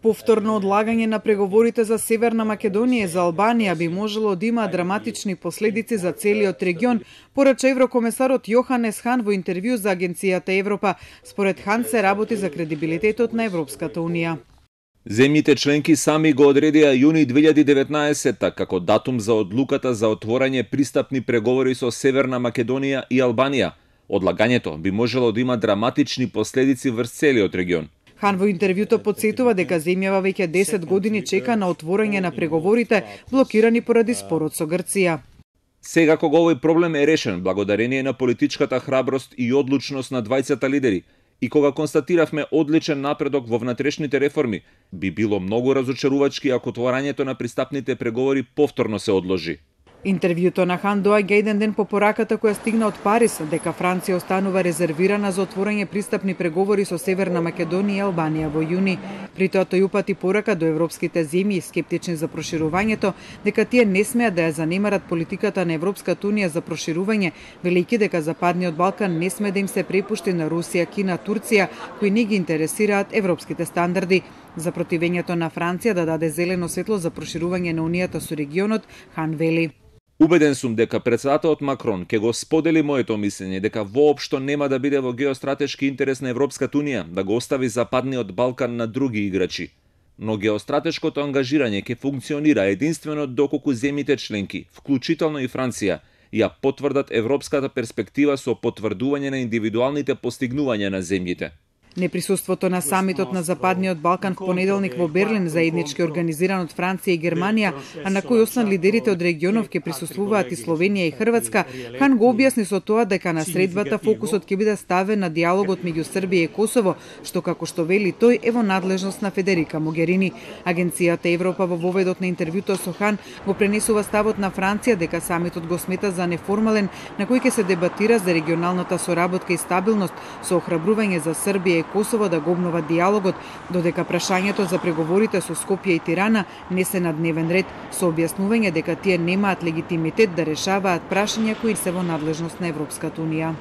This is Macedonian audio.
Повторно одлагање на преговорите за Северна Македонија и за Албанија би можело да има драматични последици за целиот регион, порача еврокомесарот Јоханес Хан во интервју за агенцијата Европа. Според Хан се работи за кредибилитетот на Европската унија. Земјите членки сами го одредија јуни 2019 како датум за одлуката за отворање пристапни преговори со Северна Македонија и Албанија. Одлагањето би можело да има драматични последици врз целиот регион. Хан во интервјуто потсетува дека земјава веќе 10 години чека на отворање на преговорите, блокирани поради спорот со Грција. Сега кога овој проблем е решен благодарение на политичката храброст и одлучност на двајцата лидери и кога констатиравме одличен напредок во внатрешните реформи, би било многу разочарувачки ако отворањето на пристапните преговори повторно се одложи. Интервјуто на Хан доаѓа еден ден по пораката која стигна од Париз, дека Франција останува резервирана за отворање пристапни преговори со Северна Македонија и Албанија во јуни. При тоа тој упати порака до европските земји скептични за проширувањето, дека тие не смеат да ја занемарат политиката на Европската унија за проширување, велејќи дека Западниот Балкан не сме да им се препушти на Русија, Кина, Турција, кои не ги интересираат европските стандарди. За противењето на Франција да даде зелено светло за проширување на унијата со регионот, Хан вели: Убеден сум дека претседателот Макрон ќе го сподели моето мислење дека воопшто нема да биде во геостратешки интерес на Европската унија да го остави Западниот Балкан на други играчи. Но геостратешкото ангажирање ќе функционира единствено доколку земјите членки, вклучително и Франција, ја потврдат европската перспектива со потврдување на индивидуалните постигнувања на земјите. Неприсуството на самитот на Западниот Балкан в понеделник во Берлин, заеднички организиран од Франција и Германија, а на кој освен лидерите од регионов ќе присуствуваат и Словенија и Хрватска, Хан го објасни со тоа дека на средбата фокусот ќе биде ставен на диалогот меѓу Србија и Косово, што како што вели тој е во надлежност на Федерика Могерини. Агенцијата Европа во воведот на интервјуто со Хан го пренесува ставот на Франција дека самитот го смета за неформален, на кој ќе се дебатира за регионалната соработка и стабилност со охрабрување за Србија и Косово да го обнова диалогот, додека прашањето за преговорите со Скопје и Тирана не се на дневен ред, со објаснување дека тие немаат легитимитет да решаваат прашања кои се во надлежност на Европската унија.